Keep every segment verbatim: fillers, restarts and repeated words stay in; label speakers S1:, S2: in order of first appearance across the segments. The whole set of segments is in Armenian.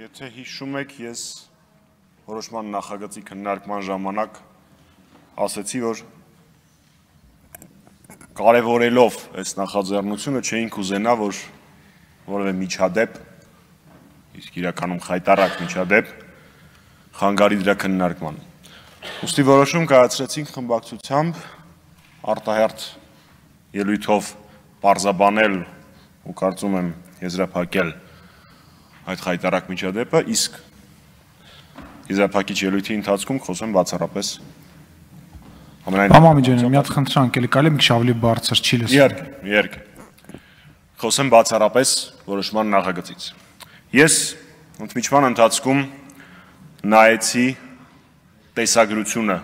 S1: Եթե հիշում եք, ես որոշման նախագծի քննարկման ժամանակ ասեցի, որ կարևորելով այս նախաձեռնությունը չէինք ուզենա, որ որևէ միջադեպ, իսկ իրականում խայտառակ միջադեպ, խանգարի դրա քննարկմանը։ Ուստի որոշում կայացրեցինք խմբակցությամբ արտահերթ ելույթով պարզաբանել ու կարծում եմ եզրափակել այդ խայտառակ միջադեպը, իսկ եզրափակիչ ելույթի ընթացքում խոսեմ բացառապես
S2: Համամիջան, մի հատ խնդրանք էլի կարելի է մի քիչ ավելի բարձր չի լսվում։
S1: Իհարկե, իհարկե։ Խոսեմ բացառապես որոշման նախագծից։ Ես ընդմիջման ընթացքում նայեցի տեսագրությունը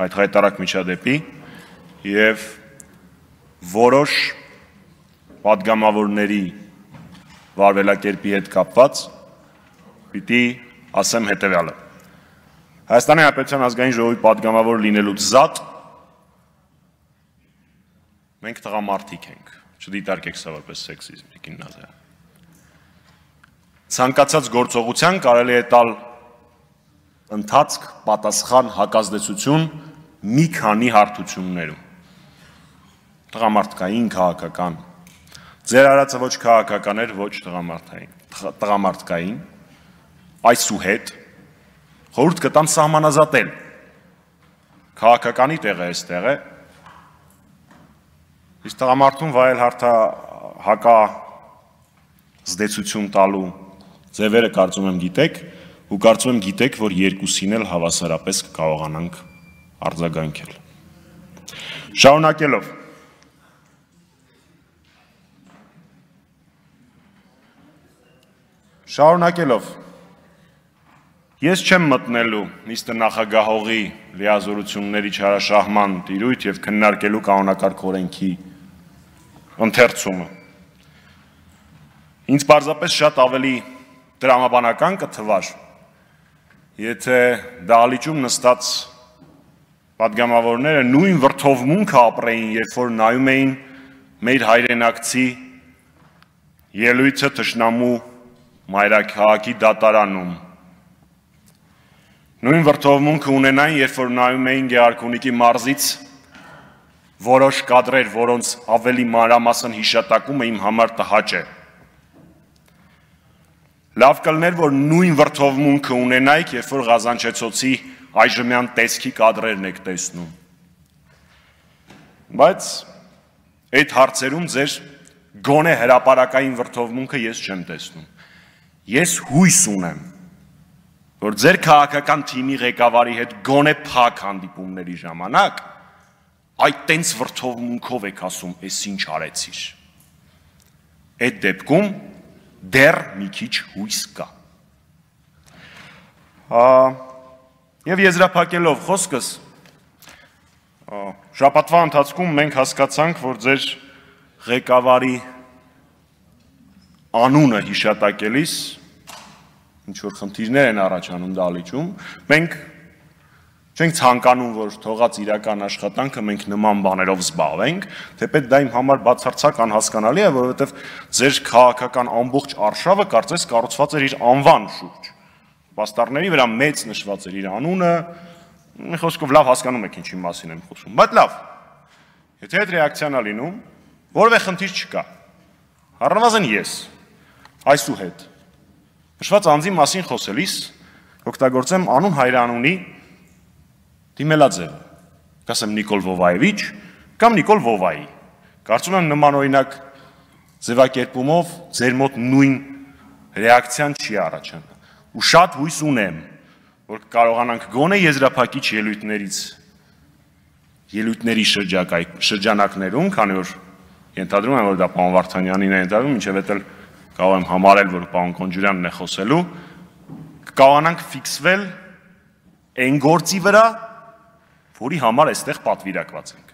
S1: այդ խայտառակ միջադեպի եւ որոշ պատգամավորների վարվելակերպի հետ կապված պիտի ասեմ հետևյալը։ Հայաստանի Հանրապետության ազգային ժողովի պատգամավոր լինելուց զատ մենք տղամարդիկ ենք, չդիտարկեք սա որպես սեքսիզմ, Տիկին Նազարյան։ Ցանկացած գործողության կարելի է տալ ընթացք, պատասխան, հակազդեցություն մի քանի հարթություններում։ Տղամարդկային, քաղաքական։ Ձեր արածը ոչ քաղաքական էր, ոչ տղամարդկային, այսուհետ խորհուրդ կտամ սահմանազատել։ Քաղաքականի տեղը այստեղ է, իսկ տղամարդուն վայել հակա զդեցություն տալու ձևերը կարծում եմ գիտեք, ու կարծում եմ գիտեք, որ երկուսին էլ հավասարապես կկարողանանք արձագանքել։ Շարունակելով Շարունակելով, ես չեմ մտնելու նիստը նախագահողի լիազորությունների չարաշահման տիրույթ և քննարկելու կանոնակարգ օրենքի ընթերցումը։ Ինձ պարզապես շատ ավելի տրամաբանական կթվար, եթե դահլիճում նստած պատգամավորները նույն վրդովմունքը ապրեին, երբ որ նայում էին մեր հայրենակցի ելույթը թշնամու մայրաքաղաքի դատարանում։ Նույն վրդովմունքը ունենային, երբ որ նայում էին Գեղարքունիքի մարզից որոշ կադրեր, որոնց ավելի մանրամասն հիշատակումը իմ համար տհաճ է։ Լավ կլներ, որ նույն վրդովմունքը ունենայիք, երբ որ Ղազանչեցոցի այժմյան տեսքի կադրերն եք տեսնում։ Բայց այդ հարցերում ձեր գոնե հրապարակային վրդովմունքը ես չեմ տեսնում։ Ես հույս ունեմ, որ ձեր քաղաքական թիմի ղեկավարի հետ գոնե փակ հանդիպումների ժամանակ այդ տենց վրդովմունքով եք ասում, «Էս ինչ արեցիր»։ Այդ դեպքում դեռ մի քիչ հույս կա։ Եվ եզրափակելով խոսքս, շաբաթվա ընթացքում մենք հասկացանք, որ ձեր ղեկավարի անունը հիշատակելիս ինչ-որ խնդիրներ են առաջանում դահլիճում, մենք չենք ցանկանում, որ թողած իրական աշխատանքը մենք նման բաներով զբաղվենք, թեպետ դա իմ համար բացարձակ անհասկանալի է, որովհետև ձեր քաղաքական ամբողջ արշավը կարծես կառուցված էր իր անվան շուրջ։ Պաստառների վրա մեծ նշված էր իր անունը, մի խոսքով լավ հասկանում եք ինչի մասին եմ խոսում, բայց լավ, եթե այդ ռեակցիան է լինում, որևէ խնդիր չկա, առնվազն ես, այսուհետ, նշված անձի մասին խոսելիս օգտագործեմ անուն հայրանունի դիմելաձևը, կասեմ Նիկոլ Վովայևիչ կամ Նիկոլ Վովայի, կարծում եմ նման օրինակ ձևակերպումով ձեր մոտ նույն ռեակցիան չի առաջանա, ու շատ հույս ունեմ, որ կարողանանք գոնե եզրափակիչ ելույթներից, ելույթների շրջանակներում, քանի որ ենթադրում եմ, որ դա պարոն Վարդանյանին է ենթադրում, մինչև էդ էլ կարող եմ համարել, որ պարոն Քոնջուրյանն է խոսելու, կկարողանանք ֆիքսվել այն գործի վրա, որի համար այստեղ պատվիրակված ենք։